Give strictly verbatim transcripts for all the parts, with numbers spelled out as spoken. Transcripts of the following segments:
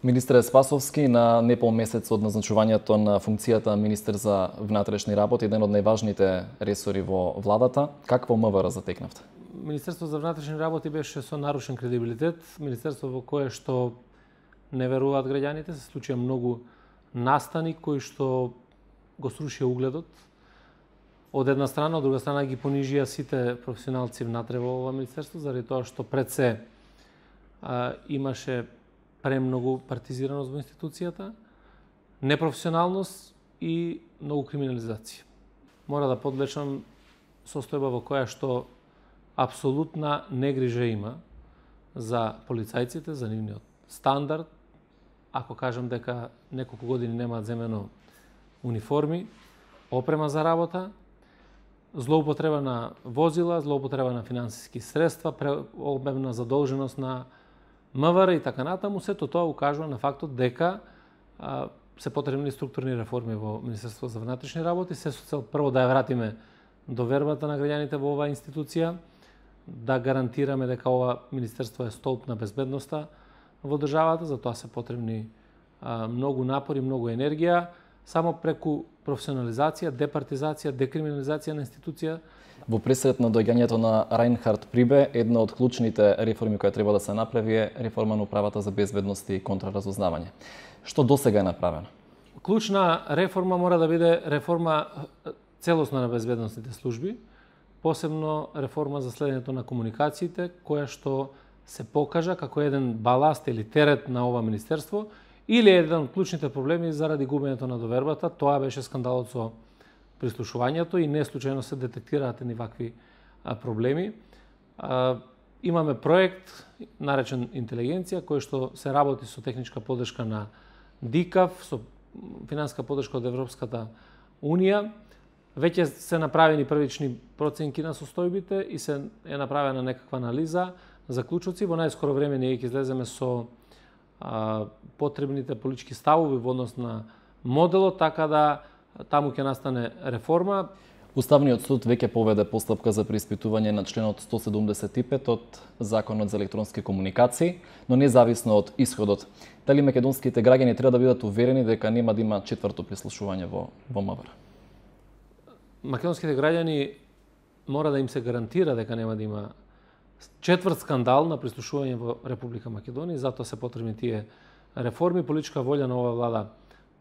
Министре Спасовски, на непол месец од назначувањето на функцијата министер за внатрешни работи, еден од најважните ресори во владата, какво МВР затекнавте? Министерство за внатрешни работи беше со нарушен кредибилитет, министерство во кое што не веруваат граѓаните, се случија многу настани кои што го срушија угледот. Од една страна, од друга страна ги понижија сите професионалци внатре во ова министерство, заради тоа што пред се а, имаше премногу партизираност во институцијата, непрофесионалност и многу криминализација. Мора да подлечам состојба во која што апсолутна негрижа има за полицајците, за нивниот стандард. Ако кажам дека неколку години немаат земено униформи, опрема за работа, злоупотреба на возила, злоупотреба на финансиски средства, преобемна задолженост на МВР и така натаму, сето тоа укажува на фактот дека а, се потребни структурни реформи во Министерството за внатрешни работи, се со цел прво да ја вратиме довербата на граѓаните во оваа институција, да гарантираме дека ова министерство е столб на безбедноста во државата, за тоа се потребни а, многу напори, многу енергија, само преку професионализација, департизација, декриминализација на институција. Во пресред на доаѓањето на Рајнхард Прибе, една од клучните реформи која треба да се направи е реформа на управата за безбедност и контраразузнавање. Што досега е направено? Клучна реформа мора да биде реформа целосна на безбедносните служби, посебно реформа за следењето на комуникациите, која што се покажа како еден баласт или терет на ова министерство, или еден од клучните проблеми заради губењето на довербата. Тоа беше скандалот со прислушувањето и не случајно се детектираат едни вакви а, проблеми. А, имаме проект наречен Интелигенција, кој што се работи со техничка поддршка на ДИКАВ, со финансиска поддршка од Европската Унија. Веќе се направени првични проценки на состојбите и се е направена некаква анализа, заклучоци. Во најскоро време ние ќе излеземе со а, потребните политички ставови во однос на моделот, така да таму ќе настане реформа. Уставниот суд веќе поведе постапка за преиспитување на членот сто седумдесет и пет од Законот за електронски комуникации, но независно од исходот. Дали македонските граѓани треба да бидат уверени дека нема да има четврто прислушување во, во МВР? Македонските граѓани мора да им се гарантира дека нема да има четврт скандал на прислушување во Република Македонија, затоа се потребни тие реформи. Политичка волја на ова влада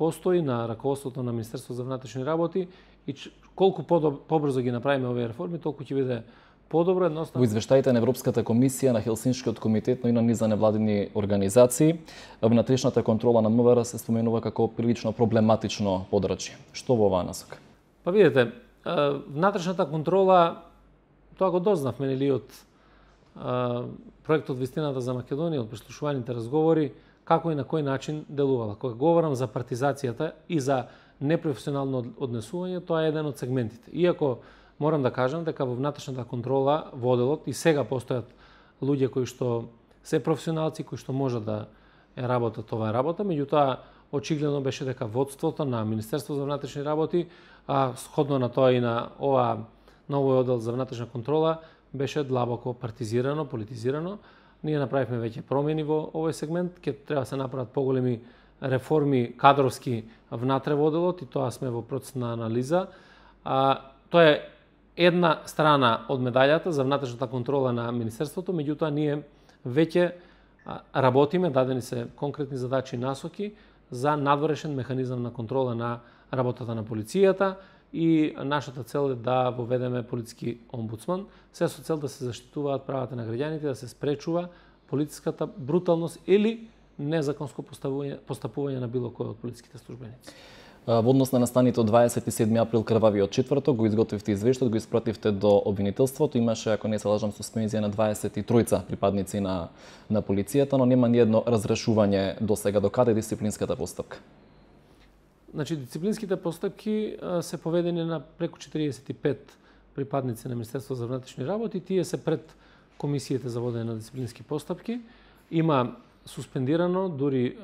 постои, на раководството на Министерството за внатрешни работи, и колку побрзо ги направиме овие реформи, толку ќе биде подобро. Едноставно. Во извештаите на Европската комисија, на Хелсиншкиот комитет, но и на низ невладини организации, внатрешната контрола на МВР се споменува како прилично проблематично подрачје. Што во оваа насока? Па видите, внатрешната контрола, тоа го дознавме нели од проектот Вистината за Македонија, од прислушуваните разговори, како и на кој начин делувала. Кога говорам за партизацијата и за непрофесионално однесување, тоа е еден од сегментите. Иако морам да кажам дека во внатрешната контрола во одделот и сега постојат луѓе кои што се професионалци, кои што можат да ја работат оваа работа, меѓутоа очигледно беше дека водството на Министерството за внатрешни работи, а сходно на тоа и на ова на овој оддел за внатрешна контрола, беше длабоко партизирано, политизирано. Ние направивме веќе промени во овој сегмент, ќе треба да се направат поголеми реформи кадровски внатре во одделот и тоа сме во процес на анализа. А, тоа е една страна од медаљата за внатрешната контрола на Министерството, меѓутоа ние веќе работиме, дадени се конкретни задачи и насоки за надворешен механизам на контрола на работата на полицијата и нашата цел е да воведеме полициски омбудсман, се со цел да се заштитуваат правата на граѓаните, да се спречува полициската бруталност или незаконско постапување на било кој од полициските службеници. Во однос на настаните од дваесет и седми април крвавиот четврток го изготвивте извештајот, го испративте до обвинителството. Имаше, ако не се лажам, суспензија на дваесет и тројца припадници на на полицијата, но нема ниедно разрешување до сега. До каде дисциплинската постапка? Значи, дисциплинските постапки се поведени на преку четириесет и пет припадници на Министерството за внатрешни работи. Тие се пред комисиите за водење на дисциплински постапки. Има суспендирано дури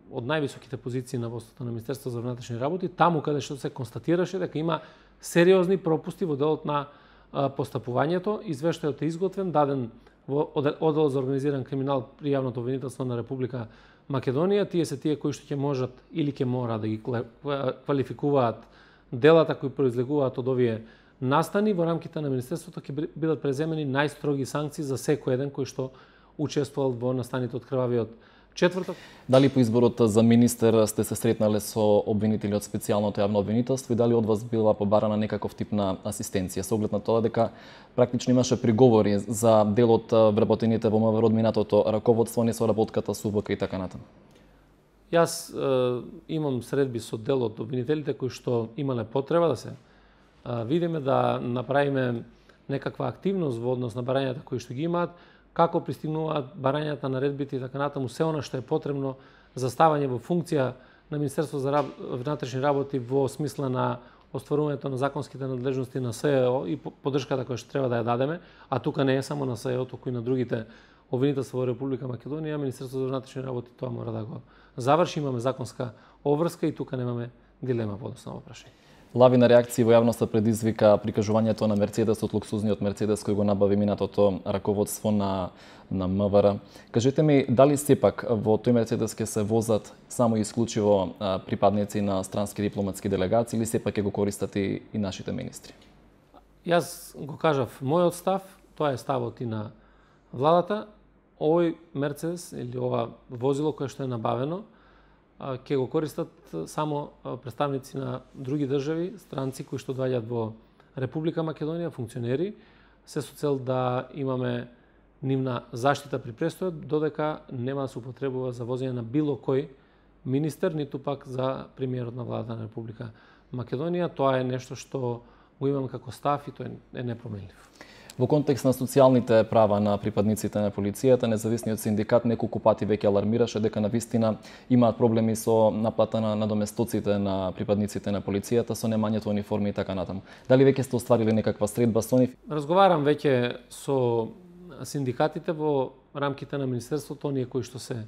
од највисоките позиции на водството на Министерството за внатрешни работи, таму каде што се констатираше дека има сериозни пропусти во делот на постапувањето. Извештајот е изготвен, даден во оддел за организиран криминал при јавното обвинителство на Република Македонија. Тие се тие кои што ќе можат или ќе мора да ги квалификуваат делата кои произлегуваат од овие настани. Во рамките на Министерството ќе бидат преземени најстроги санкции за секој еден кој што учествувал во настаните од крвавиот четврток. Дали по изборот за министер сте се сретнале со обвинители од специјалното јавно обвинителство и дали од вас била побарана некаков тип на асистенција, со оглед на тоа дека практично имаше приговори за дел од вработените во МВР од минатото раководство, не со работката со УВК и така натаму? Јас е, имам средби со дел од обвинителите кои што имале потреба да се е, видиме, да направиме некаква активност во однос на барањата кои што ги имаат, како пристигнуваат барањата, наредбите и така натаму, се она што е потребно за ставање во функција на Министерство за внатрешни работи во смисла на остварувањето на законските надлежности на СЕО и поддршката која што треба да ја дадеме, а тука не е само на СЕО, туку и на другите обвинителства во Република Македонија. Министерството за внатрешни работи тоа мора да го заврши, имаме законска обврска и тука немаме дилема по однос на прашање. Лавина реакции во јавноста предизвика прикажувањето на Мерцедес од луксузниот Мерцедес кој го набави минатото раководство на на МВР. Кажете ми, дали сепак во тој Мерцедес ќе се возат само и исклучиво а, припадници на странски дипломатски делегации или сепак ќе го користат и, и нашите министри? Јас го кажав мојот став, тоа е ставот и на владата. Овој Мерцедес или ова возило кое што е набавено ќе го користат само представници на други држави, странци кои што доаѓаат во Република Македонија, функционери, се со цел да имаме нивна заштита при престојот, додека нема да се употребува за возење на било кој министер, ниту пак за премиерот на владата на Република Македонија. Тоа е нешто што го имам како став и тоа е непроменлив. Во контекст на социјалните права на припадниците на полицијата, независниот синдикат неколку пати веќе алармираше дека навистина имаат проблеми со наплата на надоместоците на припадниците на полицијата, со немањето униформи и така натаму. Дали веќе сте остварили некаква средба со нив? Разговарам веќе со синдикатите во рамките на Министерството, оние кои што се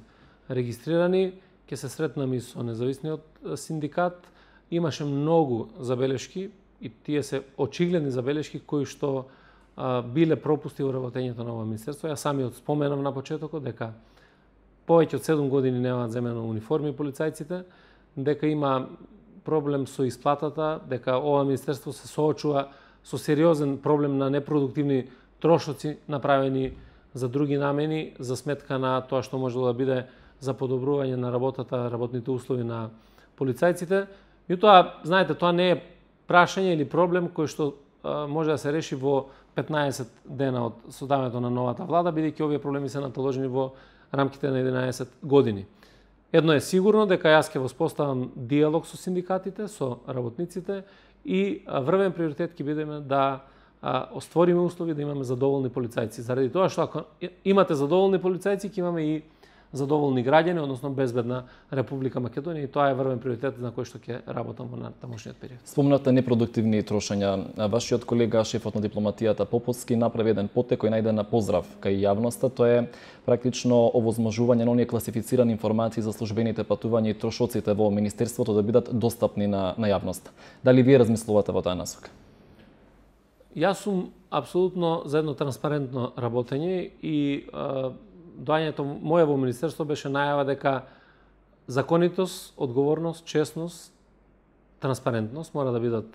регистрирани, ќе се сретнам и со независниот синдикат. Имаше многу забелешки и тие се очигледни забелешки кои што биле пропусти во работењето на ова министерство. Јас самиот споменав на почетокот дека повеќе од седум години немаат земено униформи полицајците, дека има проблем со исплатата, дека ова министерство се соочува со сериозен проблем на непродуктивни трошоци направени за други намени, за сметка на тоа што може да биде за подобрување на работата, работните услови на полицајците. И тоа, знаете, тоа не е прашање или проблем кој што може да се реши во петнаесет дена од создавањето на новата влада, бидејќи овие проблеми се наталожени во рамките на единаесет години. Едно е сигурно дека јас ќе воспоставам диалог со синдикатите, со работниците и врвен приоритет ќе бидеме да оствориме услови да имаме задоволни полицајци. Заради тоа што ако имате задоволни полицајци, ќе имаме и задоволни граѓани, односно безбедна Република Македонија, и тоа е врвен приоритет на кој што ќе работам во натамошниот период. Спомнавте непродуктивни трошања. Вашиот колега, шефот на дипломатијата Поповски, направи еден потек кој најде на поздрав кај јавноста. Тоа е практично овозможување на оние класифицирани информации за службените патувања и трошоците во министерството да бидат достапни на, на јавноста. Дали вие размислувате во таа насока? Јас сум апсолутно за едно транспарентно работење и а, доаѓањето моја во министерство беше најава дека законитост, одговорност, честност, транспарентност мора да бидат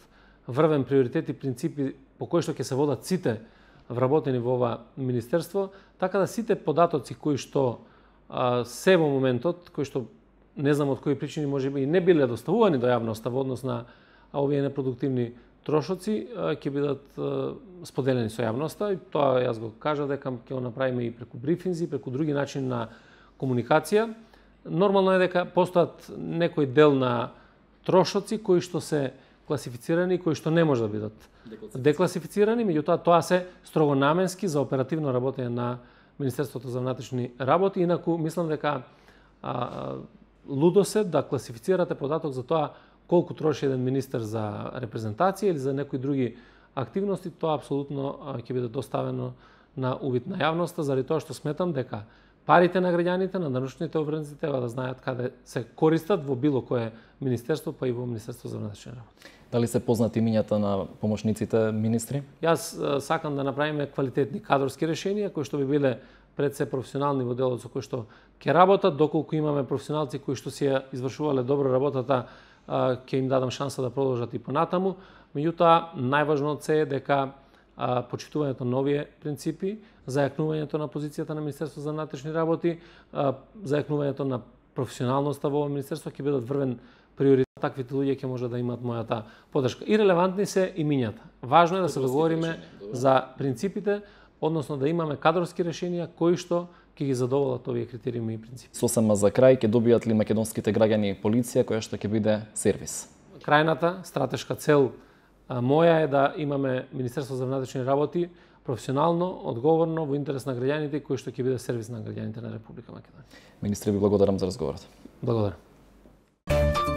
врвен приоритет и принципи по кои што ќе се водат сите вработени во ова министерство, така да сите податоци кои што а, се во моментот, кои што не знам од кои причини можеби и не биле доставувани до јавноста во однос на овие непродуктивни трошоци, ќе бидат споделени со јавноста и тоа јас го кажа дека ќе го направиме и преку брифинзи, преку други начини на комуникација. Нормално е дека постојат некој дел на трошоци кои што се класифицирани и кои што не може да бидат декласифицирани, меѓутоа тоа се строго наменски за оперативно работење на Министерството за внатрешни работи. Инаку мислам дека а, лудо се да класифицирате податок за тоа колку троши еден министер за репрезентација или за некои други активности, тоа апсолутно ќе биде доставено на увид на јавноста, заради тоа што сметам дека парите на граѓаните, на данъчните обврзници треба да знаат каде се користат во било кое министерство, па и во Министерство за внатрешни работи. Дали се познати имињата на помошниците министри? Јас сакам да направиме квалитетни кадрски решенија кои што би биле пред се професионални во делот со кои што ќе работат, доколку имаме професионалци кои што си ја извршувале добро работата, ќе им дадам шанса да продолжат и понатаму. Меѓутоа, најважно од се е дека почитувањето на нови принципи, зајакнувањето на позицијата на Министерство за внатрешни работи, зајакнувањето на професионалноста во Министерство ќе бидат врвен приоритет. Таквите луѓе ќе може да имаат мојата поддршка. И релевантни се имињата. Важно е да се договориме за принципите, односно да имаме кадрски решенија кои што ќе ги задоволат овие критериуми и принципи. Сосема за крај, ќе добијат ли македонските граѓани полиција која што ќе биде сервис? Крајната стратешка цел моја е да имаме Министерство за внатрешни работи професионално, одговорно, во интерес на граѓаните кои што ќе биде сервис на граѓаните на Република Македонија. Министре, ви благодарам за разговорот. Благодарам.